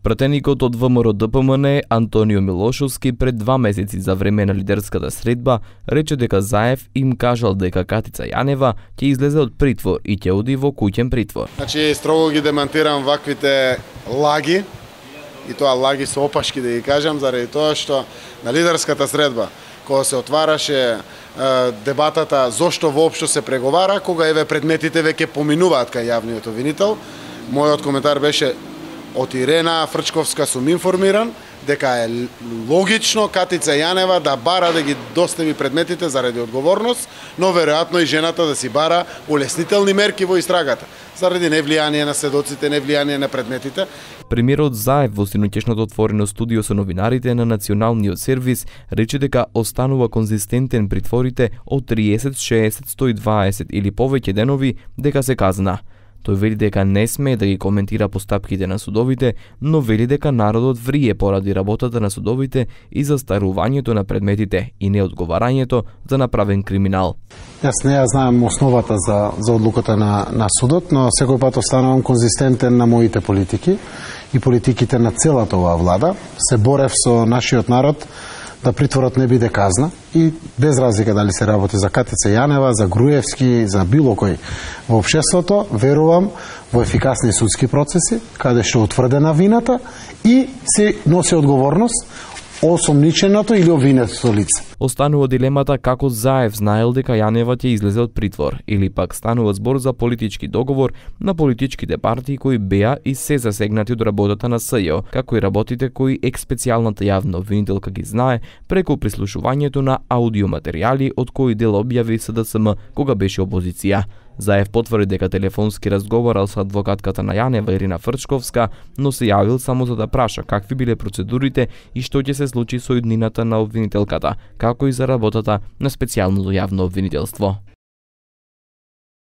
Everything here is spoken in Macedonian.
Пратеникот од ВМРО-ДПМН Антонио Милошовски пред 2 месеци за време на лидерската средба рече дека Заев им кажал дека Катица Јанева ќе излезе од притвор и ќе оди во куќен притвор. Значи строго ги демантирам ваквите лаги, и тоа лаги со опашки да ги кажам, заради тоа што на лидерската средба кога се отвараше дебатата зошто воопшто се преговара, кога еве предметите веќе поминуваат кај јавниот обвинител, мојот коментар беше од Ирена Фрчковска сум информиран дека е логично Катица Јанева да бара да ги достави предметите заради одговорност, но веројатно и жената да си бара улеснителни мерки во истрагата, заради невлијание на сведоците, невлијание на предметите. Премиерот Заев во синоќешното отворено студио со новинарите на Националниот сервис рече дека останува конзистентен притворите од 30, 60, 120 или повеќе денови дека се казна. Тој вели дека не смее да ги коментира постапките на судовите, но вели дека народот врие поради работата на судовите и застарувањето на предметите и неодговарањето за направен криминал. Јас не ја знаем основата за одлуката на судот, но секој пат останувам конзистентен на моите политики и политиките на целата оваа влада. Се борев со нашиот народ да притворот не биде казна и без разлика дали се работи за Катица Јанева, за Груевски, за било кој во општеството, верувам во ефикасни судски процеси, каде што утврдена вината и се носи одговорност осомниченото или обвинетото лице. Останува дилемата како Заев знаел дека Јанева ќе излезе од притвор, или пак станува збор за политички договор на политичките партии кои беа и се засегнати од работата на СЈО, како и работите кои експецијалната јавна обвинителка ги знае преку прислушувањето на аудиоматеријали од кои дел објави СДСМ кога беше опозиција. Заев потврди дека телефонски разговарал со адвокатката на Јанева Ирина Фрчковска, но се јавил само за да праша какви биле процедурите и што ќе се случи со иднината на обвинителката, како и за работата на специјалното јавно обвинителство.